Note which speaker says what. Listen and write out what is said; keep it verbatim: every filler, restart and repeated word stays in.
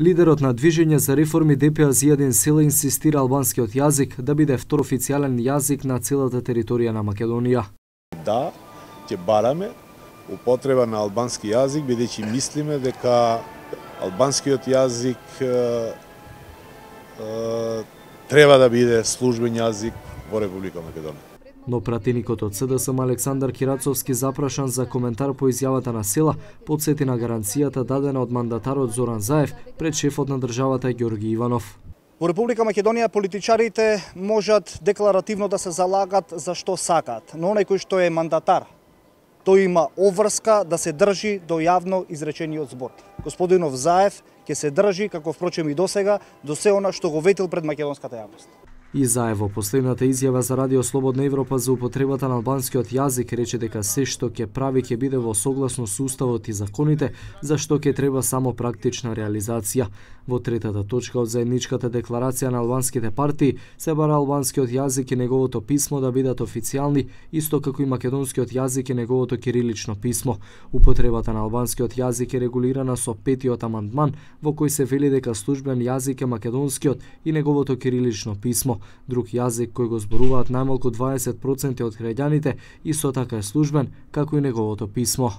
Speaker 1: Лидерот на Движење за реформи Д П А Зијадин Села инсистира албанскиот јазик да биде втор официјален јазик на целата територија на Македонија.
Speaker 2: Да, ќе бараме употреба на албански јазик, бидејќи мислиме дека албанскиот јазик е, е, треба да биде службен јазик во Република Македонија.
Speaker 1: Но пратеникот од С Д С М Александар Кирацовски, запрашан за коментар по изјавата на Села, потсети на гаранцијата дадена од мандатарот Зоран Заев пред шефот на државата Ѓорги Иванов.
Speaker 3: Во Република Македонија политичарите можат декларативно да се залагат за што сакаат, но оној кој што е мандатар, тој има обврска да се држи до јавно изречениот збор. Господинов Заев ќе се држи, како впрочем и досега, до се она што го ветил пред македонската јавност.
Speaker 1: И Заев во последната изјава за Радио Слободна Европа за употребата на албанскиот јазик рече дека се што ќе прави ќе биде во согласно со уставот и законите, за што ќе треба само практична реализација. Во третата точка од заедничката декларација на албанските партии се бара албанскиот јазик и неговото писмо да бидат официјални, исто како и македонскиот јазик и неговото кирилично писмо. Употребата на албанскиот јазик е регулирана со петиот амандман, во кој се вели дека службен јазик е македонскиот и неговото кирилично писмо. Друг јазик кој го зборуваат најмалку дваесет проценти од граѓаните исто така е службен, како и неговото писмо.